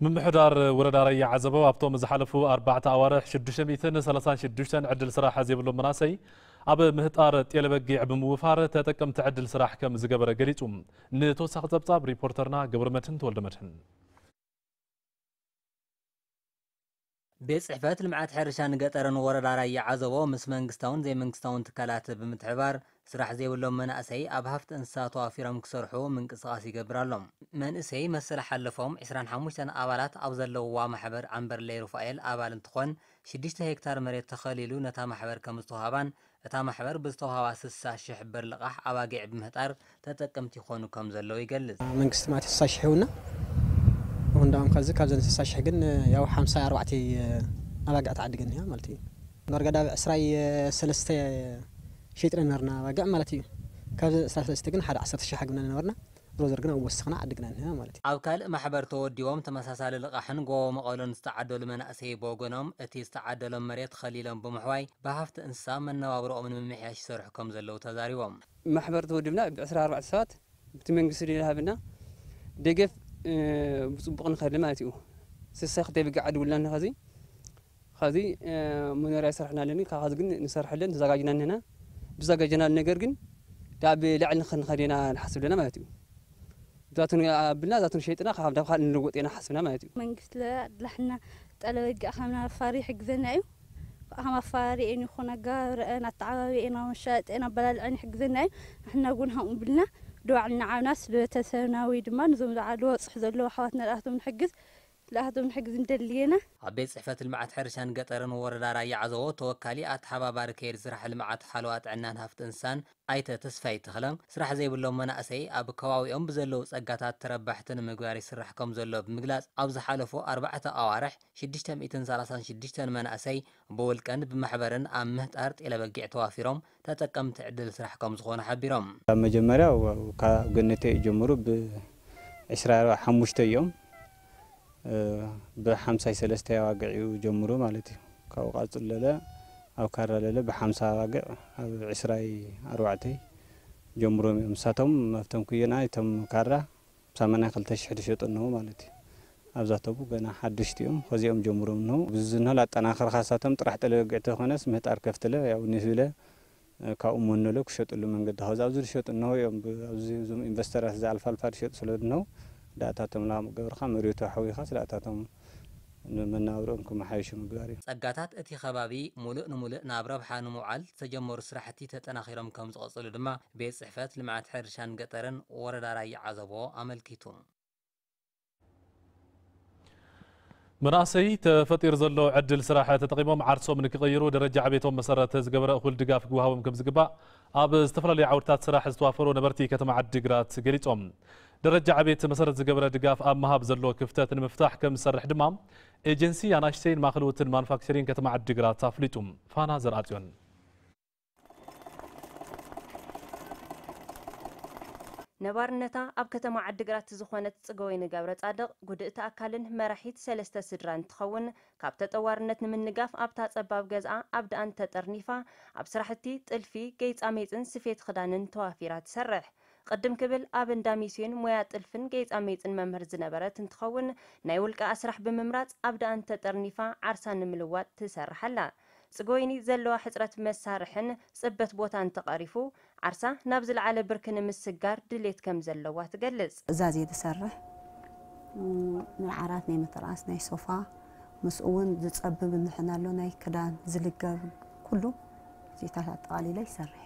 ምምሕዳር ወረዳ ራያ ዓዘቦ ኣብቶም ዝሓለፉ ኣርባዕተ ኣዋርሕ ሽዱሽተ ሚእትን ሰላሳን ሽዱሽተን ዕድል ስራሕ ዘይብሎም መናእሰይ ኣብ ምህጣር ጤለ በጊዕ ብምውፋር ተጠቀምቲ ዕድል ስራሕ ከም ዝገበረ ገሊጹ። ንተወሳኺ ጸብጻብ ሪፖርተርና ገብረመድህን ተወልደመድህን። ቤት ጽሕፈት ልምዓት ሕርሻን ገጠርን ወረዳ ራያ ዓዘቦ ምስ መንግስታውን ዘይመንግስታውን ትካላት ብምትሕብባር ስራሕ ዘይብሎም መናእሰይ ኣብ ሃፍቲ እንስሳ ተዋፊሮም ክሰርሑ ምንቅስቓስ ይገብር ኣሎ። መንእሰይ መሰል ሓለፎም ዕስራን ሓሙሽተን ኣባላት ኣብ ዘለውዋ ማሕበር ዓምበርለይ ሩፋኤል ኣባል እንትኾን ሽዱሽተ ሄክታር መሬት ተኸሊሉ ነታ ማሕበር ከም ዝተውሃባን እታ ማሕበር ብዝተውሃባ ስሳ ሽሕ ብር ልቓሕ ኣባጊዕ ብምህጣር ተጠቀምቲ ይኾኑ ከም ዘለዉ ይገልጽ። መንግስቲ ማለት ስሳ ሽሕ ይህቡና። አሁን ዳም ከዚ ካብዘን ስሳ ሽሕ ግን ያው ሓምሳ ኣርባዕተ ኣባግዕ ተዓዲገን እያ ማለት እዩ። ዳርጋ ዳብ ዕስራይ ሰለስተ ሸይጥና ነበርና ኣባግዕ ማለት እዩ። ካብ ዕስራ ሰለስተ ግን ሓደ ዓሰርተ ሽሕ ኣግብና ነበርና። ዞሮ ዞሮ ግን ኣብ ወሰኽና ዓዲግና እንሀ ማለት እዩ። ኣብ ካልእ ማሕበር ተወዲቦም ተመሳሳሊ ልቓሕን ጎቦ መቐሎን ዝተዓደሉ መናእሰይ ብወገኖም እቲ ዝተዓደሎም መሬት ኸሊሎም ብምሕዋይ ብሃፍቲ እንስሳ መነባብርኦም ንምምሕያሽ ይሰርሑ ከም ዘለዉ ተዛሪቦም። ማሕበር ተወዲብና ብዕስራ ኣርባዕተ ሰባት ብቲ መንግስቲ ድለ ሃብና ደገፍ ብፅቡቕ ንኸሊ ማለት እዩ። ስሳ ክተይ ብጋዕ ድውልና ንኸዚ ኸዚ መኖርያ ይሰርሕና ኣለኒ ካብ ኸዚ ግን ንሰርሐለን ተዘጋጅና እንህና ብዘጋጀናሉ ነገር ግን ዳብ ልዕሊ ንኸንኸድ ኢና ንሓስብ ኣለና ማለት እዩ። ብዛቱን ኣብልና ዛቱን ሸይጥና ካብ ዳብ ካልእ ንልወጥ ኢና ሓስብና ማለት እዩ። መንግስቲ ለኣድላሕና ጠለበጊ ኣኻምና ኣፋሪ ይሕግዘና እዩ። ኣኻም ኣፋሪ ኤን ይኹን ኣጋባብረአን ኣተዓባቢኤን ኣመሻጠን ኣበላልዐን ይሕግዘና እዩ። ንሕና እውን ሃምኡ ብልና ድባዕልና ዓብና ስለ ቤተሰብና ወይ ድማ ንዞም ዝዓሉ ወፅሕ ዘለዉ ኣሕዋትና ዳኣቶም ንሕግዝ ለኣቶም ሕግዝ እንደልየና። ኣብ ቤት ጽሕፈት ልምዓት ሕርሻን ገጠርን ወረዳ ራያ ዓዘቦ ተወካሊ ኣተሓባባሪ ከይዲ ስራሕ ልምዓት ሓለዋ ጥዕናን ሃፍቲ እንስሳን ኣይተ ተስፋይ ተኽለ፣ ስራሕ ዘይብሎም መናእሰይ ኣብ ከባቢኦም ብዘለዉ ጸጋታት ተረባሕቲ ንምግባር ይስራሕ ከም ዘሎ ብምግላጽ፣ ኣብ ዝሓለፉ ኣርባዕተ ኣዋርሕ ሽዱሽተ ሚእትን ሰላሳን ሽዱሽተን መናእሰይ ብውልቀን ብማሕበርን ኣብ ምህጣር ጤለ በጊዕ ተዋፊሮም ተጠቀምቲ ዕድል ስራሕ ከም ዝኾኑ ሓቢሮም። ካብ መጀመርያ ካብ ገነተ ይጀምሩ ብዕስራ ሓሙሽተ እዮም። ብሓምሳይ ሰለስተ ኣባግዕ እዩ ጀምሩ ማለት እዩ። ካብኡ ቃፅለለ ኣብ ካራ ለለ ብሓምሳ ኣባግዕ ኣብ ዕስራይ ኣርባዕተይ ጀምሮም እዮም። ንሳቶም ኣብቶም ኩየና እቶም ካራ ሰማንያ ክልተ ሽሕ ዝሸጡ እነሆ ማለት እዩ። ኣብዛተቡ ገና ሓደሽቲ እዮም። ከዚኦም ጀምሮም እነሆ ብዙ ዝንሆ ላጠናኸርካ ሳቶም ጥራሕ ጠለበግዕ ተኾነስ ምህጣር ከፍትለ ያው ንህብለ ካብኡ መኖሎ ክሸጥሉ መንገዲ ኸዚ ኣብዚ ዝሸጡ እነሆ እዮም ኣብዚ እዞም ኢንቨስተራት እዚ ኣልፋ ኣልፋ ዝሸጡ ስለ እነሆ ዳእታቶም ላም ገብርካ መሬቱ ኣሕዊኻ ስለ ኣታቶም ንመናብርኦም ክመሓየሹ ምግባር እዩ። ጸጋታት እቲ ከባቢ ሙሉእ ንሙሉእ ናብ ረብሓ ንምውዓል ዝተጀመሩ ስራሕቲ ተጠናኺሮም ከም ዝቐጽሉ ድማ ቤት ጽሕፈት ልምዓት ሕርሻን ገጠርን ወረዳ ራያ ዓዘቦ ኣመልኪቱ። መናእሰይ ተፈጢሩ ዘሎ ዕድል ስራሕ ተጠቒሞም ዓርሶም ንክቕይሩ ደረጃ ዕቤቶም መሰረት ዝገበረ እኹል ድጋፍ ክወሃቦም ከም ዝግባእ ኣብ ዝተፈላለዩ ዓውድታት ስራሕ ዝተዋፈሩ ነበርቲ ከተማ ዓዲግራት ገሊፆም። ደረጃ ዕቤት መሰረት ዝገበረ ድጋፍ ኣብ ምሃብ ዘሎ ክፍተት ንምፍታሕ ከም ዝሰርሕ ድማ ኤጀንሲ ኣናእሽተይን ማእኸልውትን ማኑፋክቸሪንግ ከተማ ዓዲግራት ኣፍሊጡ። ፋና ዘርኣፅዮን። ነባርነታ ኣብ ከተማ ዓዲግራት ዝኾነት ጽገወይኒ ገብረጻድቕ፣ ጉድእቲ ኣካልን መራሒት ሰለስተ ስድራን እንትኸውን፣ ካብ ተጠዋርነት ንምንጋፍ ኣብታ ጸባብ ገዝኣ ኣብ ደኣን ተጠርኒፋ፣ ኣብ ስራሕቲ ጥልፊ፣ ጌጻሜጽን ስፌት ክዳንን ተዋፊራ ትሰርሕ። ቅድም ክብል ኣብ እንዳ ሚስዮን ሞያ ጥልፍን ጌጻሜጽን መምህር ዝነበረት እንትኸውን፣ ናይ ውልቃኣ ስራሕ ብምምራጽ ኣብ ደኣን ተጠርኒፋ ዓርሳ ንምልዋጥ ትሰርሕ ኣላ። ጽገወይኒ ዘለዋ ሕጽረት መሳርሕን ጽበት ቦታን ተቐሪፉ፣ ዓርሳ ናብ ዝለዓለ ብርኪ ንምስጋር ድሌት ከም ዘለዋ ትገልጽ። እዛዝ እየ ዝሰርሕ። ናይ ዓራት፣ ናይ ምትርኣስ፣ ናይ ሶፋ፣ ምስኡ እውን ዝጸብብ እንድሕን ኣሎ፣ ናይ ክዳን ዝልገብ ኩሉ እዚታት ኣጠቓሊለ ይሰርሕ።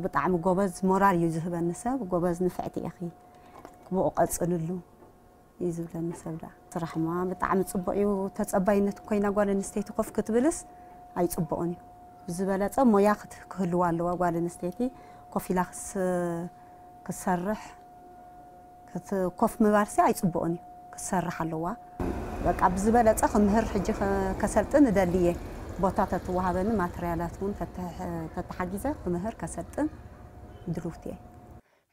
ብጣዕሚ ጎበዝ ሞራል እዩ ዝህበኒ ሰብ። ጎበዝ፣ ንፍዕቲ ኢኺ፣ ብኡ ቀጽልሉ እዩ ዝብለኒ ሰብ። ዳ ስራሕማ ብጣዕሚ ጽቡቕ እዩ። ተጸባይነት ኮይና ጓል ኣንስተይቲ ኮፍ ክትብልስ ኣይጽቡቕን እዩ። ብዝበለጸ ሞያ ክህልዋ ኣለዋ ጓል ኣንስተይቲ። ኮፍ ኢላ ክትሰርሕ፣ ኮፍ ምባልሲ ኣይጽቡቕን እዩ። ክትሰርሕ ኣለዋ። በቃ ብዝበለጸ ክምህር፣ ሕጂ ከሰልጥን እደሊ እየ። ቦታ ተትወሃበኒ፣ ማተርያላት እውን ተተሓጊዘ ክምህር ከሰልጥን ድልውቲ እየ።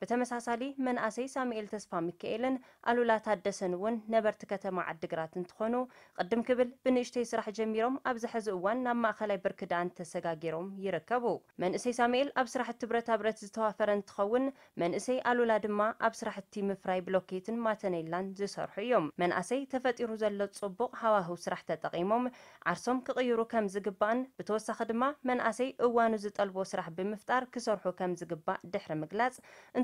ብተመሳሳሊ፣ መንኣሰይ ሳሙኤል ተስፋ ሚካኤልን ኣሉላ ታደሰን እውን ነበርቲ ከተማ ዓድግራት እንትኾኑ፣ ቅድም ክብል ብንእሽተይ ስራሕ ጀሚሮም ኣብዚ ሕዚ እዋን ናብ ማእኸላይ ብርኪ ደኣንት ተሰጋጊሮም ይርከቡ። መንእሰይ ሳሙኤል ኣብ ስራሕቲ ብረታ ብረት ዝተዋፈረ እንትኸውን፣ መንእሰይ ኣሉላ ድማ ኣብ ስራሕቲ ምፍራይ ብሎኬትን ማተኔላን ዝሰርሑ እዮም። መንኣሰይ ተፈጢሩ ዘሎ ጽቡቕ ሃዋህው ስራሕ ተጠቒሞም ዓርሶም ክቕይሩ ከም ዝግባእን ብተወሳኺ ድማ መንኣሰይ እዋኑ ዝጠልቦ ስራሕ ብምፍጣር ክሰርሑ ከም ዝግባእ ድሕሪ ምግላጽ፣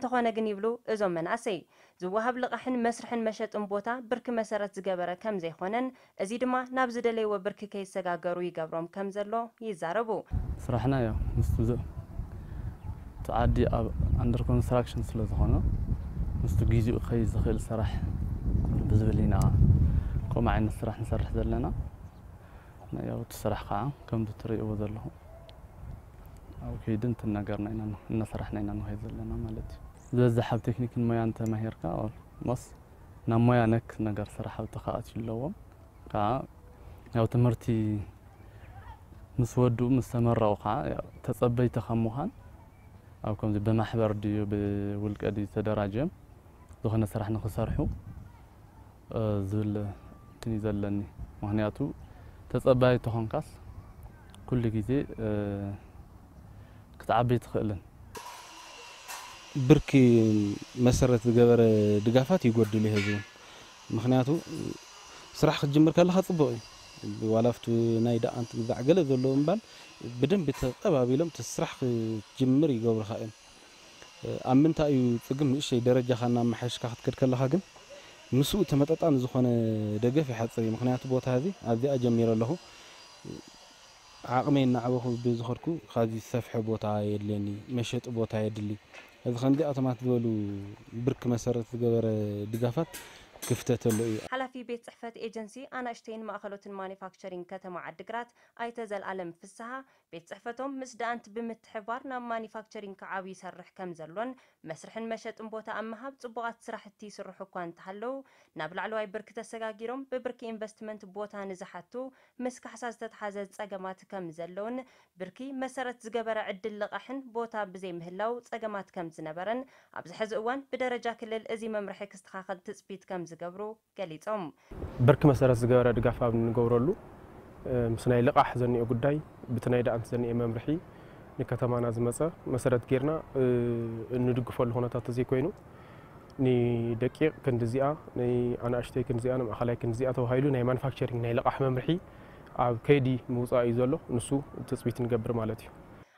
እንተኾነ ግን ይብሉ እዞም መንኣሰይ፣ ዝወሃብ ልቓሕን መስርሕን መሸጥን ቦታ ብርኪ መሰረት ዝገበረ ከም ዘይኮነን፣ እዚ ድማ ናብ ዝደለይዎ ብርኪ ከይሰጋገሩ ይገብሮም ከም ዘሎ ይዛረቡ። ስራሕና ያው ምስቱ ዝ- እቲ ዓዲ ኣብ ኣንደር ኮንስትራክሽን ስለ ዝኾነ ምስቱ ግዚኡ ከይ ዝኽእል ስራሕ ብዝብል ኢና ከምኡ ዓይነት ስራሕ ንሰርሕ ዘለና። ያው እቲ ስራሕ ከዓ ከምዚ ትርእይዎ ዘለኹም ኣብ ከይዲ እንትናገርና ኢና እናሰራሕና ኢና ንኸይድ ዘለና ማለት እዩ። ዝበዝሕ ኣብ ቴክኒክን ሞያን ተማሂርካ ኦልሞስት ናብ ሞያ ነክ ነገር ስራሕ ኣብቲ ከኣትዩ ኣለዎም። ከዓ ያው ትምህርቲ ምስ ወድኡ ምስ ተመረቑ ከዓ ያው ተጸበይቲ ካብ ምዃን ኣብ ከምዚ ብማሕበር ድዩ ብውልቀ ድዩ ተደራጅዮም ዝኾነ ስራሕ ንክሰርሑ ዝብል እንትን እዩ ዘለኒ። ምክንያቱ ተጸባይ ተኾንካስ ኩሉ ግዜ ክትዓቢ ትኽእልን። ብርኪ መሰረት ዝገበረ ድጋፋት ይጎድል እዩ ህዝቡ። ምክንያቱ ስራሕ ክትጅምር ከለካ ጽቡቅ እዩ። ዋላ ኣብቲ ናይ ደኣንት ግዛዕ ገለ ዘለዎ እምባል ብደንቢ ተቀባቢሎም እቲ ስራሕ ክትጅምር ይገብሩካ እዮም። ኣብ ምንታይ እዩ ጽግም ንእሽተይ ደረጃኻ እናመሓየሽካ ክትከድ ከለኻ ግን ምስኡ ተመጣጣኒ ዝኾነ ደገፍ ይሓጽር እዩ። ምክንያቱ ቦታ እዚ ኣብዚኣ ጀሚረ ኣለኹ። ዓቕመይ እናዓበኹ ብዝኸድኩ ካብዚ ዝሰፍሐ ቦታ የድልየኒ፣ መሸጢ ቦታ የድሊ። እዚ ከምዚኣቶማት ዝበሉ ብርኪ መሰረት ዝገበረ ድጋፋት ክፍተት ኣሎ እዩ። ሓላፊ ቤት ጽሕፈት ኤጀንሲ ኣናእሽተይን ማእኸሎትን ማኒፋክቸሪንግ ከተማ ዓዲግራት ኣይተ ዘልኣለም ፍስሃ፣ ቤት ጽሕፈቶም ምስ ደኣንት ብምትሕብባር ናብ ማኒፋክቸሪንግ ክዓብዩ ይሰርሕ ከም ዘሎን መስርሕን መሸጥን ቦታ ኣብ ምሃብ ጽቡቓት ስራሕቲ ይስርሑ እኳ እንተሃለዉ፣ ናብ ላዕለዋይ ብርኪ ተሰጋጊሮም ብብርኪ ኢንቨስትመንት ቦታ ንዝሓቱ ምስ ካሕሳ ዝተትሓዘ ጸገማት ከም ዘለውን ብርኪ መሰረት ዝገበረ ዕድል ልቓሕን ቦታ ብዘይምህላው ጸገማት ከም ዝነበረን ኣብዚ ሕዚ እዋን ብደረጃ ክልል እዚ መምርሒ ክስተኻኸል ትጽቢት ከም ዝገብሩ ገሊጾም። ብርኪ መሰረት ዝገበረ ድጋፍ ኣብ እንገብረሉ ምስ ናይ ልቓሕ ዘኒኦ ጉዳይ ብቲ ናይ ደኣንት ዘኒኤ መምርሒ ንከተማና ዝመፀ መሰረት ጌርና እንድግፈሉ ኩነታት ተዘይኮይኑ ንደቂቕ ክንድዚኣ ንኣናእሽተይ ክንድዚኣ ንማእኸላይ ክንድዚኣ ተባሂሉ ናይ ማኑፋክቸሪንግ ናይ ልቓሕ መምርሒ ኣብ ከይዲ ምውፃእ እዩ ዘሎ። ንሱ ትፅቢት ንገብር ማለት እዩ።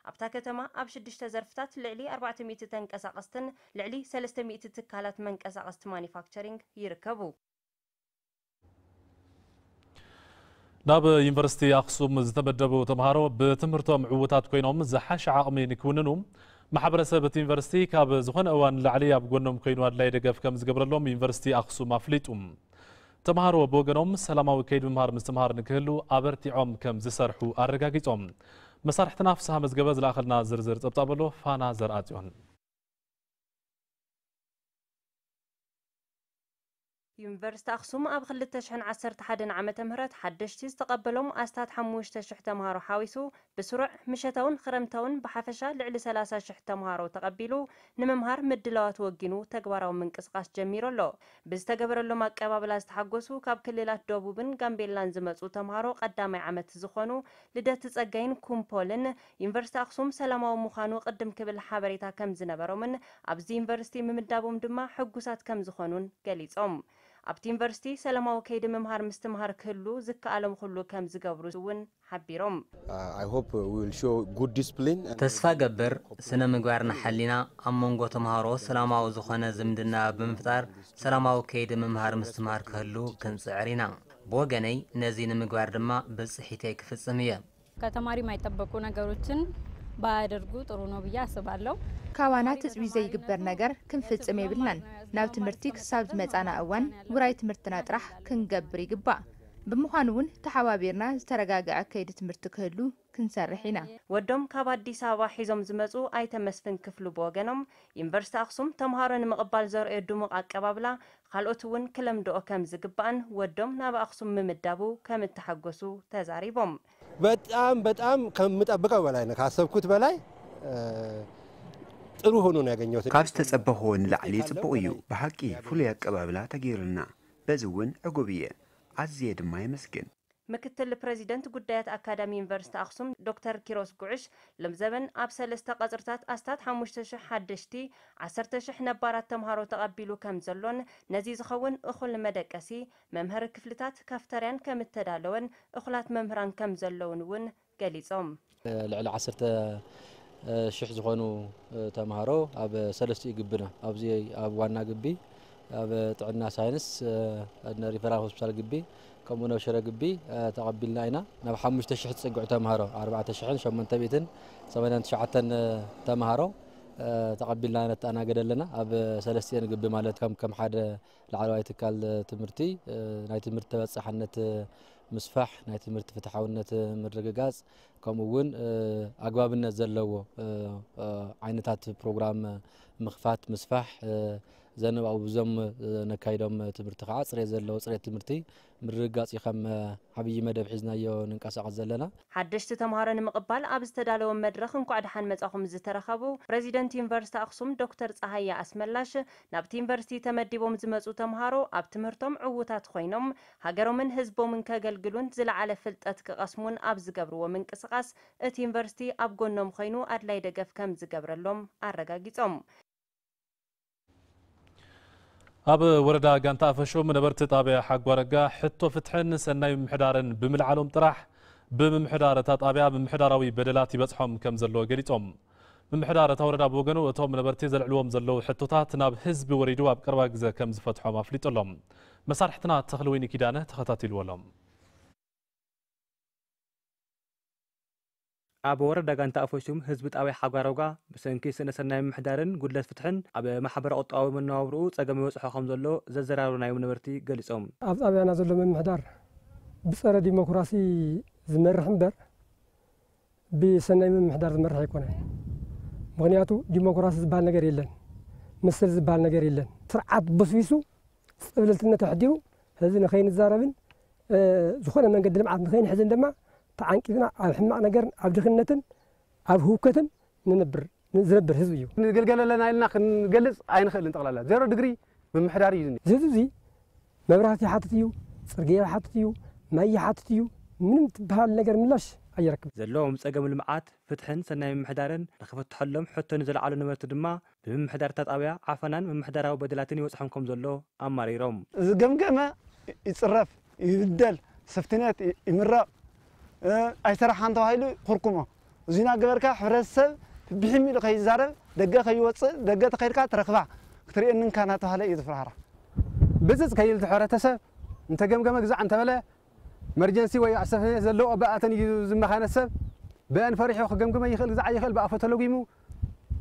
ኣብታ ከተማ ኣብ ሽዱሽተ ዘርፍታት ልዕሊ ኣርባዕተ ሚእቲ ተንቀሳቐስትን ልዕሊ ሰለስተ ሚእቲ ትካላት መንቀሳቐስቲ ማኒፋክቸሪንግ ይርከቡ። ናብ ዩኒቨርሲቲ ኣኽሱም ዝተመደቡ ተምሃሮ ብትምህርቶም ዕዉታት ኮይኖም ዝሓሸ ዓቕሚ ንክውንኑ ማሕበረሰብ እቲ ዩኒቨርሲቲ ካብ ዝኾነ እዋን ንላዕሊ ኣብ ጎኖም ኮይኑ ኣድላይ ደገፍ ከም ዝገብረሎም ዩኒቨርሲቲ ኣኽሱም ኣፍሊጡ። ተምሃሮ ብወገኖም ሰላማዊ ከይዲ ምምሃር ምስትምሃር ንክህሉ ኣበርቲዖም ከም ዝሰርሑ ኣረጋጊጾም። መሳርሕትና ፍስሃ መዝገበ ዝለኣኸልና ዝርዝር ጸብጻብ ኣሎ። ፋና ዘርኣጽዮን። ዩኒቨርሲቲ ኣኽሱም ኣብ ክልተ ሽሕን ዓሰርተ ሓደን ዓመተ ምህረት ሓደሽቲ ዝተቐበሎም ኣስታት ሓሙሽተ ሽሕ ተምሃሮ ሓዊሱ ብስሩዕ ምሸታውን ክረምታውን ብሓፈሻ ልዕሊ ሰላሳ ሽሕ ተምሃሮ ተቐቢሉ ንምምሃር ምድላዋት ወጊኑ ተግባራዊ ምንቅስቓስ ጀሚሩ ኣሎ። ብዝተገበረሎም ኣቀባብላ ዝተሓጎሱ ካብ ክልላት ደቡብን ጋምቤላን ዝመፁ ተምሃሮ ቀዳማይ ዓመት ዝኾኑ ልደት ፀጋይን ኩምፖልን ዩኒቨርሲቲ ኣኽሱም ሰላማዊ ምዃኑ ቅድም ክብል ሓበሬታ ከም ዝነበሮምን ኣብዚ ዩኒቨርሲቲ ምምዳቦም ድማ ሕጉሳት ከም ዝኾኑን ገሊፆም። ኣብቲ ዩኒቨርሲቲ ሰላማዊ ከይዲ ምምሃር ምስትምሃር ክህሉ ዝከኣሎም ኩሉ ከም ዝገብሩ እውን ሓቢሮም። I hope we will show good discipline. ተስፋ ገብር ስነ ምግባርና ሓሊና ኣብ መንጎ ተምሃሮ ሰላማዊ ዝኾነ ዝምድና ብምፍጣር ሰላማዊ ከይዲ ምምሃር ምስትምሃር ክህሉ ክንፅዕር ኢና። ብወገነይ ነዚ ንምግባር ድማ ብፅሒተይ ክፍፅም እየ። ከተማሪ የማይጠበቁ ነገሮችን ባያደርጉ ጥሩ ነው ብዬ አስባለሁ። ካባና ትፅቢት ዘይግበር ነገር ክንፍፅም የብልናን። ናብ ትምህርቲ ክሳብ ዝመፃና እዋን ውራይ ትምህርትና ጥራሕ ክንገብር ይግባእ። ብምዃኑ እውን ተሓባቢርና ዝተረጋገዐ ከይዲ ትምህርቲ ክህሉ ክንሰርሕ ኢና። ወዶም ካብ ኣዲስ ኣበባ ሒዞም ዝመፁ ኣይተ መስፍን ክፍሉ ብወገኖም ዩኒቨርሲቲ ኣክሱም ተምሃሮ ንምቕባል ዘርእዮ ድሙቕ ኣቀባብላ ካልኦት እውን ክለምድኦ ከም ዝግባእን ወዶም ናብ ኣክሱም ምምዳቡ ከም እተሓጎሱ ተዛሪቦም። በጣም በጣም ከምጠብቀው በላይ ነው፣ ካሰብኩት በላይ ጥሩ ሆኖ ነው ያገኘሁት። ካብ ዝተጸበኽዎ ንላዕሊ ጽቡቕ እዩ። ብሓቂ ፍሉይ ኣቀባብላ ተገይሩልና፣ በዚ እውን ዕጉብ እየ። ኣዝየ ድማ የመስግን። ምክትል ፕረዚደንት ጉዳያት ኣካዳሚ ዩኒቨርሲቲ ኣኽሱም ዶክተር ኪሮስ ጉዕሽ፣ ሎምዘበን ኣብ ሰለስተ ቀጽርታት ኣስታት ሓሙሽተ ሽሕ ሓደሽቲ፣ ዓሰርተ ሽሕ ነባራት ተምሃሮ ተቐቢሉ ከም ዘሎን ነዚ ዝኸውን እኹል መደቀሲ፣ መምሃሪ ክፍልታት፣ ካፍተርያን ከም እተዳለወን እኹላት መምህራን ከም ዘለውን እውን ገሊጾም። ልዕሊ ዓሰርተ ሽሕ ዝኾኑ ተምሃሮ ኣብ ሰለስቲኡ ግብና፣ ኣብዚ ኣብ ዋና ግቢ፣ ኣብ ጥዕና ሳይንስ፣ ሪፈራል ሆስፒታል ግቢ፣ ከምኡ ናብ ሽረ ግቢ ተቐቢልና ኢና። ናብ ሓሙሽተ ሽሕ ዝጽግዑ ተምሃሮ፣ ኣርባዕተ ሽሕን ሸሞንተ ሚእትን ሰማንያን ትሽዓተን ተምሃሮ ተቐቢልና ነተኣናገደ ኣለና። ኣብ ሰለስቲኤን ግቢ ማለት ከም ከም ሓደ ላዕለዋይ ትካል ትምህርቲ ናይ ትምህርቲ ተበጻሕነት ምስፋሕ፣ ናይ ትምህርቲ ፍትሓውነት ምርግጋጽ፣ ከምኡ እውን ኣግባብነት ዘለዎ ዓይነታት ፕሮግራም ምኽፋት፣ ምስፋሕ፣ ዘንባቡ ብዞም ነካይዶም ትምህርቲ ከዓ ጽሬት ዘለዎ ጽሬት ትምህርቲ ምርግጋጽ እዩ ከም ዓብዪ መደብ ሒዝናዮ ንንቀሳቐስ ዘለና። ሓደሽቲ ተምሃሮ ንምቕባል ኣብ ዝተዳለወ መድረኽ እንኳዕ ደሓን መጻኹም ዝተረኸቡ ፕረዚደንት ዩኒቨርሲቲ ኣኽሱም ዶክተር ጸሃየ ኣስመላሽ፣ ናብቲ ዩኒቨርሲቲ ተመዲቦም ዝመጹ ተምሃሮ ኣብ ትምህርቶም ዕዉታት ኮይኖም ሃገሮምን ህዝቦምን ከገልግሉን ዝለዓለ ፍልጠት ክቐስሙን ኣብ ዝገብርዎ ምንቅስቓስ እቲ ዩኒቨርሲቲ ኣብ ጎኖም ኮይኑ ኣድላይ ደገፍ ከም ዝገብረሎም ኣረጋጊጾም። ኣብ ወረዳ ጋንታ ኣፈሹም ነበርቲ ጣብያ ሓጓረጋ ሕቶ ፍትሕን ሰናይ ምምሕዳርን ብምልዓሎም ጥራሕ ብምምሕዳር እታ ጣብያ ምምሕዳራዊ በደላት ይበፅሖም ከም ዘሎ ገሊፆም። ምምሕዳር እታ ወረዳ ብወገኑ እቶም ነበርቲ ዘልዕልዎም ዘለዉ ሕቶታት ናብ ህዝቢ ወሪዱ ኣብ ቀረባ ግዘ ከም ዝፈትሖም ኣፍሊጡ ኣሎ። መሳርሕትና ተኽልወይኒ ኪዳነ ተኸታቲልዎ ኣሎ። ኣብ ወረዳ ጋንታ ኣፈሹም ህዝቢ ጣብያ ሓጓሮጋ ብሰንኪ ስነ ሰናይ ምምሕዳርን ጉድለት ፍትሕን ኣብ ማሕበረ ቁጠባዊ መነባብርኡ ጸገም ይበጽሖ ከም ዘሎ ዘዘራረቡ ናዮም ነበርቲ ገሊጾም። ኣብ ጣብያና ዘሎ ምምሕዳር ብጸረ ዲሞክራሲ ዝመርሕ እምበር ብሰናይ ምምሕዳር ዝመርሕ ኣይኮነን። ምኽንያቱ ዲሞክራሲ ዝበሃል ነገር የለን፣ መሰል ዝበሃል ነገር የለን። ስርዓት በስቢሱ፣ ጽብልልትነት ኣሕዲሩ፣ ህዝቢ ንኸይንዛረብን ዝኾነ መንገዲ ልምዓት ንኸይንሕዝን ድማ ተዓንቂፍና ኣብ ሕማቕ ነገርን ኣብ ድኽነትን ኣብ ህውከትን ንነብር ዝነብር ህዝቢ እዩ። ንግልገል ኣለና ኢልና ክንገልጽ ኣይንኽእልን። ጠቕላላ ዜሮ ድግሪ ምምሕዳር እዩ ዝኒሀ። እዚ ህዝቢ እዚ መብራህቲ ይሓትት እዩ፣ ጽርግያ ይሓትት እዩ፣ ማይ ይሓትት እዩ። ምንም ትበሃል ነገር ምላሽ ኣየረክብን። ዘለዎም ጸገም ልምዓት፣ ፍትሕን ሰናይ ምምሕዳርን ንኽፍትሐሎም ሕቶ ንዘለዓሉ ነበርቲ ድማ ብምምሕዳር እታ ጣብያ ዓፈናን ምምሕዳራዊ በደላትን ይበጽሖም ከም ዘሎ ኣማሪሮም። ዝገምገመ ይጽረፍ፣ ይብደል፣ ስፍትነት ይምረቕ፣ ኣይሰራሕካን ተባሂሉ ይኹርኩሞ። እዚ እናገበርካ ሕብረተሰብ ብሒም ኢሉ ከይዛረብ፣ ደገ ከይወፅእ፣ ደገ ተኸይድካ ትረኽባ ክትርእየኒ እንካ እናተባህለ እዩ ዝፍራህራ። ብፅፅ ከይብል እቲ ሕብረተሰብ እንተገምገመ ግዛዕ እንተበለ መርጀንሲ ወይ ኣሰፍነት ዘለዎ ኣባኣተን እዩ ዝመኻነ ሰብ በን ፈሪሑ ክገምግመ ይኽእል ግዛዕ ይኽእል ብኣፎ ተለጉሙ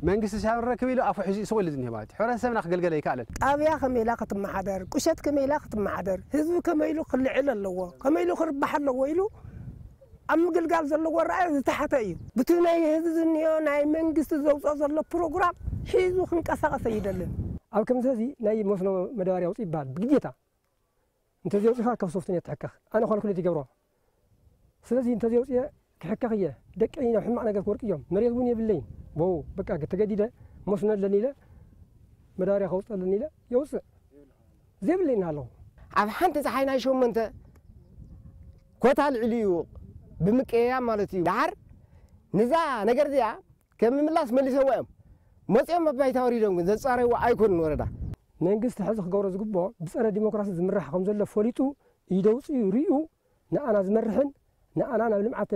መንግስቲ ሲያረክብ ኢሉ ኣፉ ሒዙ ይስቕ ኢሉ ዝኒሄ ማለት እዩ። ሕብረተሰብና ክገልገል ኣይከኣለን። ጣብያ ከመይ ኢላ ክትመሓደር፣ ቁሸት ከመይ ኢላ ክትመሓደር፣ ህዝቢ ከመይ ኢሉ ክልዕል ኣለዎ፣ ከመይ ኢሉ ክርባሕ ኣለዎ ኢሉ ኣብ ምግልጋል ዘለዎ ረኣይ ዝተሓተ እዩ። ብቲ ናይ ህዝቢ ዝኒኦ ናይ መንግስቲ ዘውፅኦ ዘሎ ፕሮግራም ሒዙ ክንቀሳቐስ ኣይደልን። ኣብ ከምዚ ሕዚ ናይ መስኖ መዳበርያ ኣውፅእ ይበሃል ብግዴታ። እንተዘይወፂኻ ካብ ሶፍትኔት ትሕከኽ። ኣነ ኳልኩሌት ይገብሮ። ስለዚ እንተዘይወፅየ ክሕከኽ እየ። ደቀይ ናብ ሕማቕ ነገር ክወድቁ እዮም። መሬት እውን የብለይን። ቦው በቃ ተገዲደ መስኖ ኣለኒ ኢለ መዳበርያ ከውፅእ ኣለኒ ኢለ የውፅእ። ዘይብለይ እናሃለኹ። ኣብ ሓንቲ ፀሓይ ናይ ሸሞንተ ኮታ ልዕሊ እዩ ብምቅያያም ማለት እዩ። ደሓር ንዛ ነገር እዚኣ ከም ምምላስ መሊሰዋ እዮም። መፂኦም ኣብ ባይታ ወሪዶም ግን ዘፃረይዎ ኣይኮኑን ወረዳ። መንግስቲ ሕዚ ክገብሮ ዝግብኦ ብጸረ ዲሞክራሲ ዝምራሕ ከም ዘሎ ፈሊጡ ኢደውፅኡ ርእዩ ንኣና ዝመርሕን ንኣና ናብ ልምዓት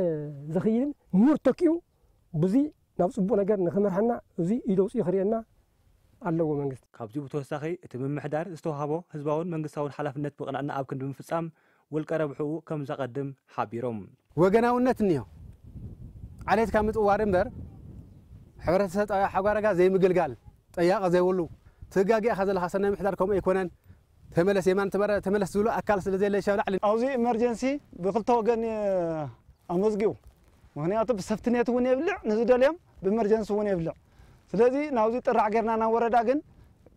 ዘኽይልን ምሁር ተኪኡ ብዙ ናብ ፅቡቕ ነገር ንክመርሐና እዚ ኢደውፅኡ ክርእየና ኣለዎ መንግስቲ። ካብዚ ብተወሳኺ እቲ ምምሕዳር ዝተዋህቦ ህዝባውን መንግስታውን ሓላፍነት ብቕንዕና ኣብ ክንዲ ምፍፃም ውልቀ ረብሕኡ ከም ዘቐድም ሓቢሮም። ወገናውነት እኒሆ። ዓሌትካ ምጥዋር እምበር ሕብረተሰብ ጣብያ ሓጓረጋ ዘይምግልጋል፣ ጠያቂ ዘይብሉ፣ ትጋጊኻ ዘለኻ ሰናይ ምሕዳር ከምኡ ኣይኮነን። ተመለስ የማን ተመረ-፣ ተመለስ ዝብሉ ኣካል ስለ ዘየለ ሻብ ላዕሊ። ኣብዚ ኢመርጀንሲ ብክልተ ወገን ኣመዝጊቡ። ምኽንያቱ ብሰፍትኔት እውን የብልዕ፣ ንዝደልዮም ብኢመርጀንሲ እውን የብልዕ። ስለዚ ናብዚ ጥራሕ ጌርና ናብ ወረዳ ግን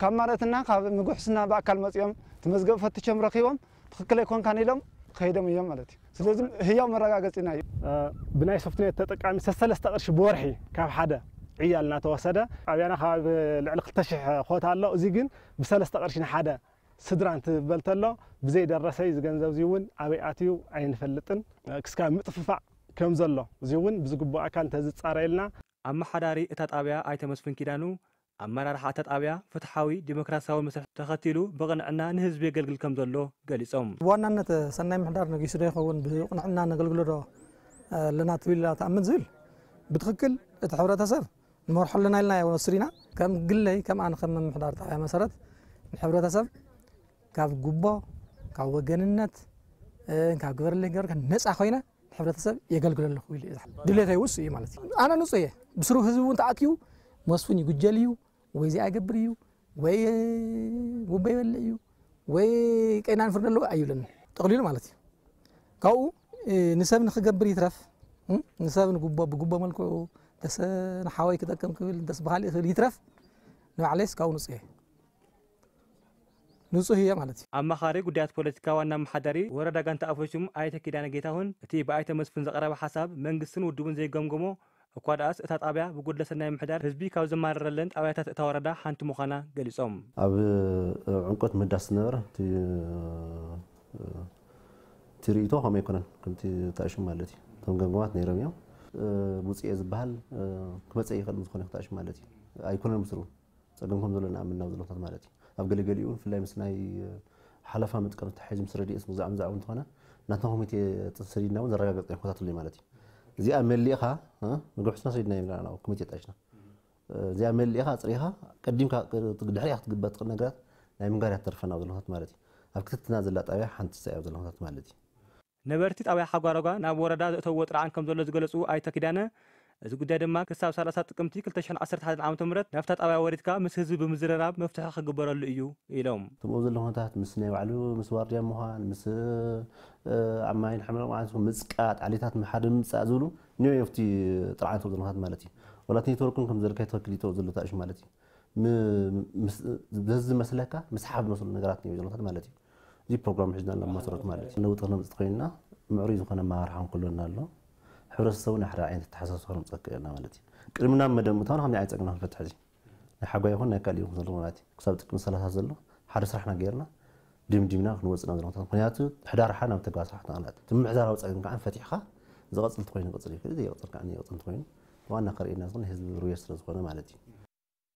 ካብ ማረትና ካብ ምጉሕስና ብኣካል መፂኦም እቲ መዝገብ ፈትሾም ረኪቦም ትኽክል ኣይኮንካን ኢሎም ከይዶም እዮም ማለት እዩ። ስለዚ ህያው መረጋገፂና እዩ። እ፣ ብናይ ሶፍትኔት ተጠቃሚ ሰሰለስተ ቅርሺ ብወርሒ ካብ ሓደ ዕያል እናተወሰደ ኣብያና ካብ ልዕሊ ክልተ ሽሕ ኮታ ኣሎ። እዚ ግን ብሰለስተ ቅርሺ ንሓደ ስድራ እንትበል ተሎ ብዘይደረሰይ እዚ ገንዘብ እዚ እውን ኣበይ ኣትዩ ኣይንፈልጥን። እ፣ ክስካብ ምጥፍፋእ ከም ዘሎ እዚ እውን ብዝግቡእ ኣካል እንተዝፃረየልና። ኣመሓዳሪ እታ ጣብያ ኣይተ መስፍን ኪዳኑ፣ ኣመራርሓ እታ ጣብያ ፍትሓዊ ዲሞክራሲያዊ መስርሕ ተኸቲሉ ብቕንዕና ንህዝቢ የገልግል ከም ዘሎ ገሊጾም። ብዋናነት ሰናይ ምሕዳር ነጊሱ ዶ ይኸውን፣ ብቕንዕና ነገልግሎ ዶ ኣለና ትብል ኢላ ትኣምን ዝብል ብትኽክል እቲ ሕብረተሰብ ንመርሖ ኣለና ኢልና ኢና ወሲድና። ከም ግለይ፣ ከም ኣነ ከም ምምሕዳር ጣብያ መሰረት ንሕብረተሰብ ካብ ጉቦ፣ ካብ ወገንነት፣ እ፣ ካብ ግበረለይ ገበርከ ነፃ ኮይነ ንሕብረተሰብ የገልግል ኣለኹ ኢሉ እዩ። ድሌተይ ውስ እዩ ማለት እዩ። ኣነ ንጹህ እየ። ብስሩ ህዝቢ እውን ተኣኪቡ መስፍን ይጉጀል እዩ፣ ወይ እዚኣ ይገብር እዩ፣ ወይ ጉቦ ይበልዕ እዩ፣ ወይ ቀይናን ፍርዲ ኣለዎ ኣይብለንን። ጠቕሊሉ ማለት እዩ። ካብኡ፣ እ፣ ንሰብ ንክገብር ይትረፍ፣ እ፣ ንሰብ ንጉቦ፣ ብጉቦ መልክዑ፣ ደስ ንሓወይ ክጠቅም ክብል፣ ደስ ብኻሊእ ክብል ይትረፍ፣ ንባዕለይስ ካብኡ ንጹህ እየ። ንጹህ እየ ማለት እዩ። ኣማኻሪ ጉዳያት ፖለቲካ ዋና ኣመሓዳሪ ወረዳ ጋንታ ኣፈሹም ኣይተ ኪዳነ ጌታሁን፣ እቲ ብኣይተ መስፍን ዝቐረበ ሓሳብ መንግስትን ውድቡን ዘይገምገሞ እኳ ደኣስ እታ ጣብያ ብጉድለት ሰናይ ምሕዳር ህዝቢ ካብ ዘማረረለን ጣብያታት እታ ወረዳ ሓንቲ ምዃና ገሊጾም። ኣብ፣ እ፣ ዕምቆት ምህዳስ ዝነበረ እቲ፣ እ፣ እቲ ርእይቶ ከምኡ ኣይኮነን፣ ከምቲ ተኣሽሙ ማለት እዩ። እቶም ገምገማት ነይሮም እዮም። እ፣ ውፅኤ ዝበሃል፣ እ፣ ክመፀ ይኽእል ዝኾነ ተኣሽሙ ማለት እዩ። ኣይኮነን ምስሉ ጸገም ከም ዘሎ ንኣምን ናብ ዘለኹታት ማለት እዩ። ኣብ ገለገሊኡ እውን ብፍላይ ምስ ናይ ሓለፋ መጥቀም ተታሒዙ ምስ ረድኤት ምግዛዕ ምዛዕ እውን እንተኾነ ናትና ኮሚቴ ሰዲድና እውን ዘረጋገጽናዮ ኩነታት ኣሎ ማለት እዩ። እዚኣ መሊእኻ፣ እ፣ መግብሕትና ሰዲድና ኢና ናብ ኮሚቴ ኣጣይሽና። እዚኣ መሊእኻ ኣጽሪኻ ቀዲምካ ድሕሪኣ ክትግበር ትኽእል ነገራት ናይ ምንጋር እያ ትተርፈና ኣብ ዘለኹታት ማለት እዩ። ኣብ ክትትልና ዘላ ጣብያ ሓንቲ እያ ኣብ ዘለኹታት ማለት እዩ። ነበርቲ ጣብያ ሓጓሮጋ ናብ ወረዳ ዘእተውዎ ጥርዓን ከም ዘሎ ዝገለጹ ኣይተ ኪዳነ፣ እዚ ጉዳይ ድማ ክሳብ ሰላሳ ጥቅምቲ ክልተ ሽሕን ዓሰርተ ሓደን ዓመተ ምህረት ናብታ ጣብያ ወሪድካ ምስ ህዝቢ ብምዝርራብ መፍትሒ ክግበረሉ እዩ ኢሎም። እቶም ኣብዚ ዘለኹ ኩነታት ምስ ናይ ባዕሉ ምስ ዋርድያ ምዃን፣ ምስ፣ እ፣ ኣብ ማይን ሕምረቕ ማለት ምጽቃጥ፣ ዓሌታት ሓደ ምምጻእ ዝብሉ እኒኦ እዮም ኣብቲ ጥርዓን እቶም ዘለኹ ኩነታት ማለት እዩ። ዋላ እቲ ኔትወርክ እውን ከም ዘልካ ትኽክል እዩ ዘሎ ተኣሽ ማለት እዩ። ም-፣ ምስ-፣ ዘዝመስለካ ምስሓብ ዝመስሉ ነገራት እዮም ዘለታት ማለት እዩ። እዚ ፕሮግራም ሒዝና ናብ መሰረት ማለት እዩ። ለውጢ ክነምፅእ ኮይንና ምዕሩይ ዝኾነ ኣመራርሓ ክንክለና ኣሎ። ሕብረተሰቡ ናይ ሓደ ዓይነት ኣተሓሳስባ ክነምፀካ ኢና ማለት እዩ። ቅድሚ ናብ መደብ ምእታውና ከምዚ ዓይነት ፀገም ክንፈትሕ እዚ ናይ ሓጓ ይኹን ናይ ካልእ ይኹን ዘሎ ማለት እዩ። ክሳብ ጥቅሚ ሰላሳ ዘሎ ሓደ ስራሕና ገይርና ድምዲምና ክንወፅእ ናብ ዘለታት። ምክንያቱ ሕዳር ሓ ናብ ተግባር ስራሕ ተቐላጥ። እቲ ምምሕዳራዊ ፀገም ከዓ ፈቲሕካ ዝቐፅል እንተኮይኑ ይቕፅል ይኽእል፣ ዘይቕፅል ከዓ ዘይቕፅል እንተኮይኑ ዋና ከርእየና ዝኽእል ህዝቢ ርዌር ስለ ዝኾነ ማለት እዩ።